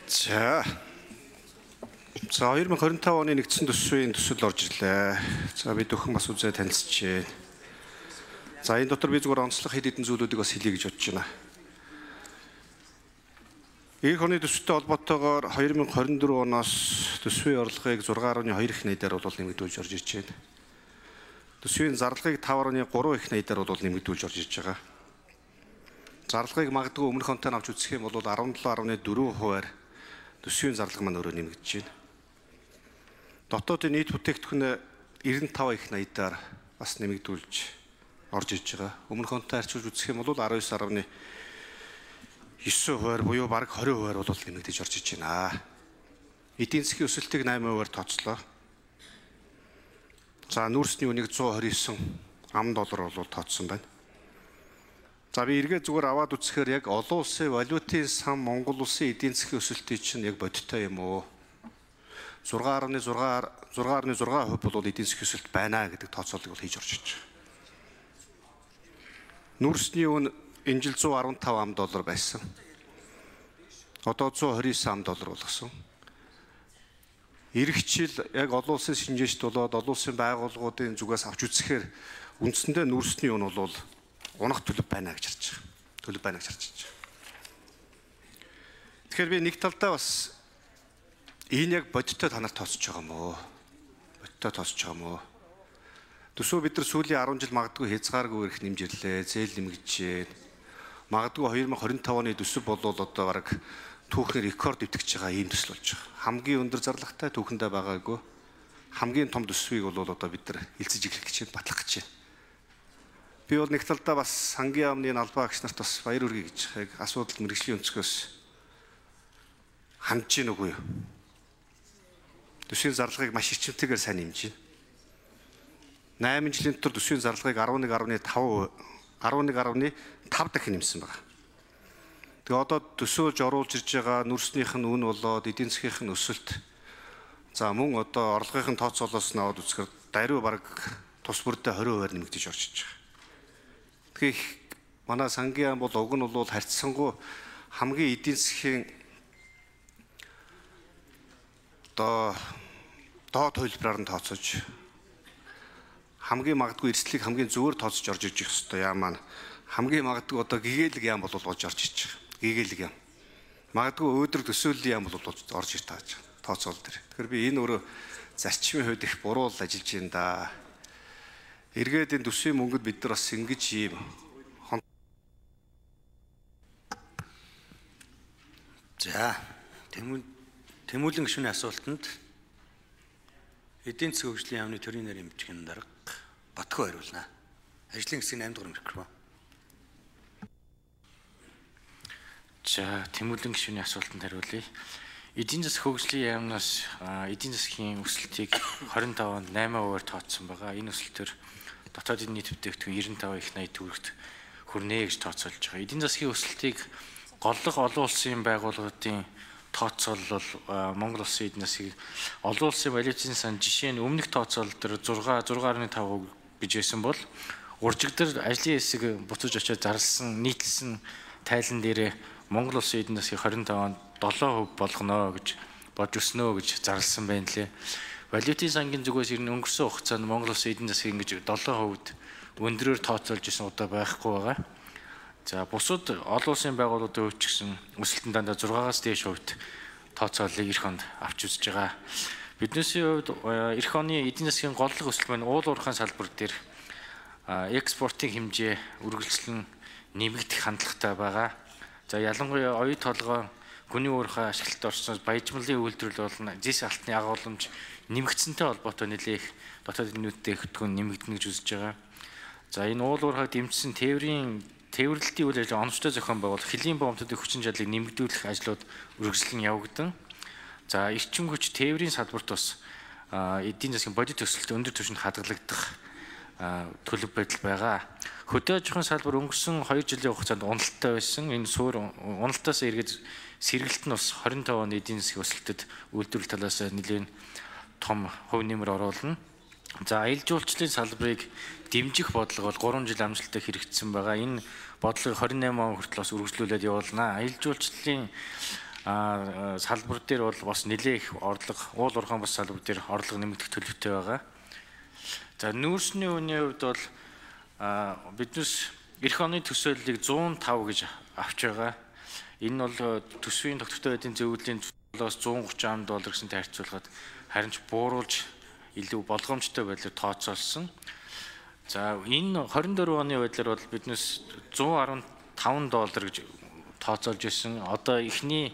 За 2025 оны нэгдсэн төсвийн төсөл орж ирлээ. За бид өхөн бас үзээ танилцчихээ. За энэ дотор би зүгээр онцлог хэд хэдэн зүйлүүдийг бас хэлье гэж бодож байна. Эх оны төсөлтэй холбоотойгоор 2024 оноос төсвийн орлогыг 6.2 их найдаар бол нэмэгдүүлж орж ирж байна. Төсвийн зарлагыг 5.3 их найдаар бол нэмэгдүүлж орж ирж байгаа. Зарлагыг магадгүй өмнөх онтой авч үзэх юм бол 17.4%-аар төсвийн зарлага маань өөрөө нэмэгдэж байна. Дотоодын нийт бүтээгдэхүүн 95 их найдаар бас нэмэгдүүлж орж иж байгаа. Өмнөх онтой харьцуулж үзэх юм бол 19.9%-аар буюу бараг 20%-аар бол нэмэгдэж орж иж байна. Эдийн засгийн өсөлтийг 8%-аар тооцлоо. За нүүрсний үнийг 129 $1 бол тооцсон байна. За би эргээ зүгээр аваад үзэхээр яг олон улсын валютын сан Монгол улсын эдийн засгийн өсөлтийн чинь яг бодиттой юм уу? 6.6% бол эдийн засгийн өсөлт байна гэдэг тооцоолыг бол хийж орж иж байгаа. Нүүрсний үн энэ жил $115 байсан. Одоо $129 болгосон. Ирэх жил яг олон улсын шинжээчд болоод олон улсын байгууллагуудын зүгээс авч үзэхээр үндсэндээ нүүрсний үн бол унах төлөв байна гэж харж байгаа. Төлөв байна гэж харж байгаа. Тэгэхээр би нэг талдаа бас энэ яг бодиттой та нарт тооцож байгаа юм уу? Бодиттой тооцож байгаа юм уу? Төсөө бид нар сүүлийн 10 жил магадгүй хязгааргүй ирэх нэмж ирлээ. Зээл нэмэгдэж байна. Магадгүй 2025 оны төсөв бол одоо бараг түүхний рекорд дэвтгэж байгаа ийм төсөл болж байгаа. Хамгийн өндөр зарлагтай түүхэндээ байгаагүй. Хамгийн том төсвийг бол одоо бид нар элцэж эхлэх гэж байна, батлах гэж байна. Би бол нэг талдаа бас сангийн яамны албаа агч нарт бас баяр хүргэе гэж яг асуудал мэргэжлийн өнцгөөс хандж гин үгүй юу? Төсвийн зарлагыг маш ичимтэйгээр сайн нэмж байна. 8 жилийн дотор төсвийн зарлагыг 11.5 дахин нэмсэн байна. Тэгээ одоо төсөөлж оруулж ирж байгаа нүүрснийх нь үн болоод эдийн засгийнх нь өсөлт. За мөн одоо орлогын тооцоолоос нь аваад үзэхээр даруй бараг тус бүрдээ 20%-аар нэмэгдэж орж иж байгаа. Тэгэхээр манай сангийн яам бол уг нь бол харьцангуй хамгийн эдийн засгийн доод хувилбараар нь тооцож хамгийн магадгүй эрсдлийг хамгийн зөвөр тооцож орж иж хэвээр яам маань хамгийн магадгүй одоо гэгээлэг яам бол болж орж иж байгаа. Гэгээлэг яам. Магадгүй өөдрөг төсөөллийн яам бол орж ир тааж тооцоол дээр. Тэгэхээр би энэ өөрөө зарчмын хувьд их буруу ажиллаж байна да. Эргээд энэ төсвийн мөнгөд бид нар бас ингэж ийм За тэмүүлэн гишүүний асуултанд эдийн засгийн хөгжлийн яамны төрийн нэр эмчгийн дарга Батгүй хариулна. Ажлын хэсгийн 8 дугаар микрофон. За тэмүүлэн гишүүний асуултанд хариулъя. Эдийн засгийн хөгжлийн яамнаас эдийн засгийн өсөлтийг 25 онд 8%-аар тооцсон байгаа. Энэ өсөлтөөр дотоодын нийт бүтээгдэхүүн 95 их 80 төгрөгт хүрнэ гэж тооцоолж байгаа. Эдийн засгийн өсөлтийг голлох олон улсын байгууллагуудын тооцоол бол Монгол улсын эдийн засгийг олон улсын валютын сан жишээ нь өмнөх тооцоол дээр 6.5% гэж байсан бол уржигдэр ажлын хэсэг буцаж очиж зарласан нийтлсэн тайлан дээрээ Монгол улсын эдийн засгийн 25 онд 7% болгоно гэж бодж өснө гэж зарласан байна лээ. Валютын сангийн зүгээс ирнэ өнгөрсөн хугацаанд Монгол улсын эдийн засгийн ингэж 7% өндрөөр тооцоолж исэн удаа байхгүй байгаа. За бусад олон улсын байгууллагуудын хувьд ч гэсэн өсөлтөнд дандаа 6-аас дээш хувьд тооцоолыг эх онд авч үзэж байгаа. Биднээсийн хувьд эх оны эдийн засгийн голлог өсөлт маань уул уурхайн салбар дээр экспортын хэмжээ үргэлжлэн нэмэгдэх хандлагатай байгаа. За ялангуяа оюу толгой гүний уурхай ашиглалт орсноос баяжмлын үйлдвэрлэл болон зис алтны агуулмж нэмэгдсэнтэй холбоотой нэлээх дотоодын бүтээгдэхүүн нэмэгдэнэ гэж үзэж байгаа. За энэ уул уурхайг дэмжсэн тээвэрлэлтийн үйл ажиллагаа оновчтой зохион байгуулах хөлийн боомтуудын хүчин чадлыг нэмэгдүүлэх ажлууд үргэлжлэн явагдан. За эрчим хүч тээврийн салбарт бас эдийн засгийн бодит өсөлт өндөр түвшинд хадгалагдах төлөв байдал байгаа. Хөдөө аж ахуйн салбар өнгөрсөн 2 жилийн хугацаанд уналттай байсан. Энэ суур уналтаас эргээд сэргэлт нь бас 25 оны эдийн засгийн өсөлтөд үйлдвэрлэл талаас нэлээд том хувь нэмэр оруулна. За аялал жуулчлалын салбарыг дэмжих бодлого бол 3 жил амжилттай хэрэгжсэн байгаа. Энэ бодлогыг 28 он хүртэл бас үргэлжлүүлээд явуулнаа. Аялал жуулчлалын салбар дээр бол бас нэлээх орлого, уул уурхайн бас салбар дээр орлого нэмэгдэх төлөвтэй байгаа. За нүүрсний үнийн хувьд бол биднес эх оны төсөөллийг 105 гэж авч байгаа. Энэ бол төсвийн тогтвортой байдлын зөвлөлийн $130 гэсэн таарцуулахад харин ч бууруулж илүү болгоомжтой байдлаар тооцоолсон. За энэ 24 оны байдлаар бол биднес $115 гэж тооцоолж ирсэн. Одоо эхнээс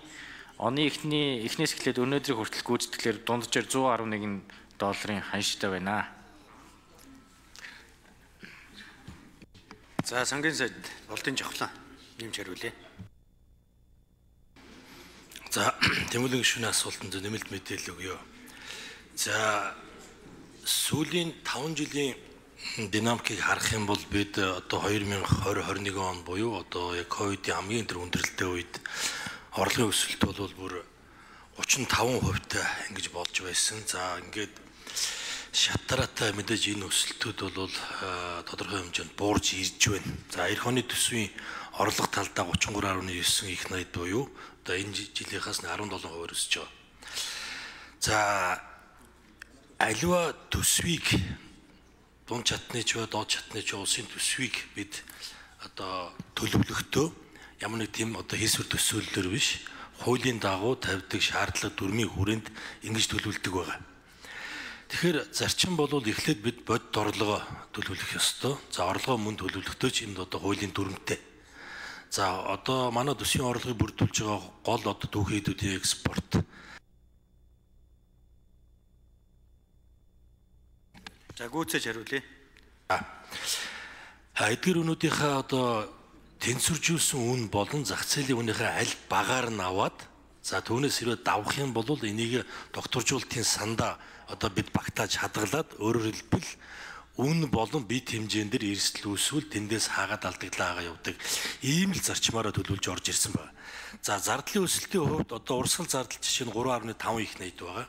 эхлээд өнөөдрийг хүртэл гүйцэтгэлээр дунджаар $111 ханштай байна. За сангийн сайд болдын жавхлан нэмж хариулъя. За тэмүүлэн гишүүний асуултанд нэмэлт мэдээлэл өгье. За сүүлийн 5 жилийн динамикийг харах юм бол бид одоо 2020-21 он буюу одоо яг ковидын хамгийн өндөр өндөрлөлттэй үед орлогын өсөлт бол бүр 35% ингэж болж байсан. За ингээд шатараатай мэдээж энэ өсөлтүүд бол тодорхой хэмжээнд буурж ирж байна. За эх оны төсвийн орлого талдаа 33.9 их найд буюу одоо энэ жилийнхаас 17% өсөж байгаа. За аливаа төсвийг дунд чатны ч бай, доод чатны ч улсын төсвийг бид одоо төлөвлөхдөө ямар нэг тийм одоо хийсвэр төсөөллөөр биш, хуулийн дагуу тавьдаг шаардлага дүрмийн хүрээнд ингэж төлөвлөдөг байгаа. Тэгэхээр зарчим бол эхлээд бид бодит орлогоо төлөвлөх ёстой. За орлогоо мөн төлөвлөхдөө ч энд одоо хуулийн дүрмтэй. За одоо манай төсвийн орлогыг бүрдүүлж байгаа гол одоо түүхийдүүдийн экспорт. За гүйцээж хариулъя. Эдгээр үнүүдийнхээ одоо тэнцвэржүүлсэн үн болон зах зээлийн үнийхээ аль багаар нь аваад за түүнээс хэрвээ давах юм бол энийг докторжуулалтын сандаа одоо бид багтааж хадгалаад өөрөөр хэлбэл үн болон бит хэмжээнд дээр эрсдэл үүсвэл тэндээс хаагаад алдагдлаагаа явдаг. Ийм л зарчмаараа төлөвлөж орж ирсэн байна. За зардлын өсөлтийн хувьд одоо урсгал зардал жишээ нь 3.5 их найд байгаа.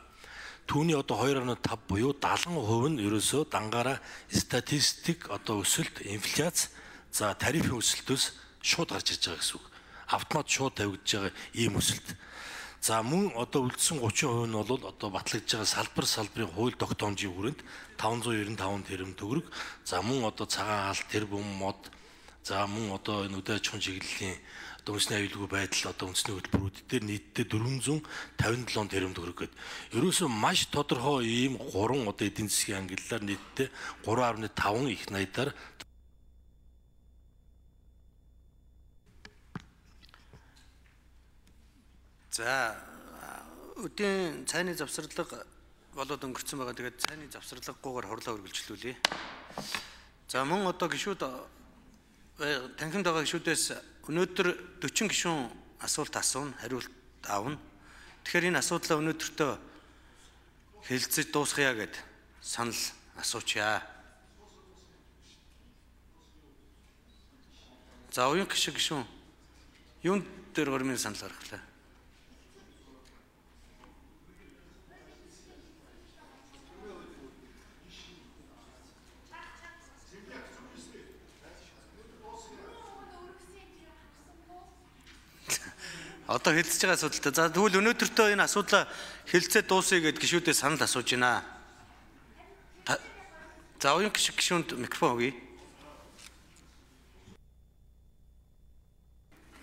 Түүний одоо 2.5 буюу 70% нь ерөөсөө дангаараа статистик одоо өсөлт, инфляц, за тарифын өсөлтөөс шууд гарч ирж байгаа гэсэн үг. Автомат шууд тавигдж байгаа ийм өсөлт. За мөн одоо үлдсэн 30% нь бол одоо батлагдж байгаа салбарын хууль тогтоомжийн хүрээнд 595 тэрбум төгрөг. За мөн одоо цагаан хаалт, тэрбум мод, за мөн одоо энэ үдэ аж ахуйн чиглэлийн одоо үндэсний аюулгүй байдал одоо үндэсний хөтөлбөрүүд дээр нийтдээ 457 тэрбум төгрөг гээд ерөөсөө маш тодорхой ийм 3 одоо эдийн засгийн ангиллаар нийтдээ 3.5 их найдаар За өдийн цайны завсарлага болоод өнгөрцөн байгаа. Тэгээд цайны завсарлаггүйгээр хурлаа үргэлжлүүлье. За мөн одоо гишүүд танхимд байгаа гишүүдээс өнөөдөр 40 гишүүн асуулт асууна, хариулт аавна. Тэгэхээр энэ асуудлаа өнөөдөртөө хэлцэж дуусгая гэд санал асуучаа. За уян гишүүн юунд дээр гормын санал гаргалаа? Одоо хэлцэж байгаа асуудалтай. За тэгвэл өнөөдөртөө энэ асуудлаа хэлцээ дуусгая гэд гишүүдээ санал асууж байна. За уян гишүүнд микрофон өгье.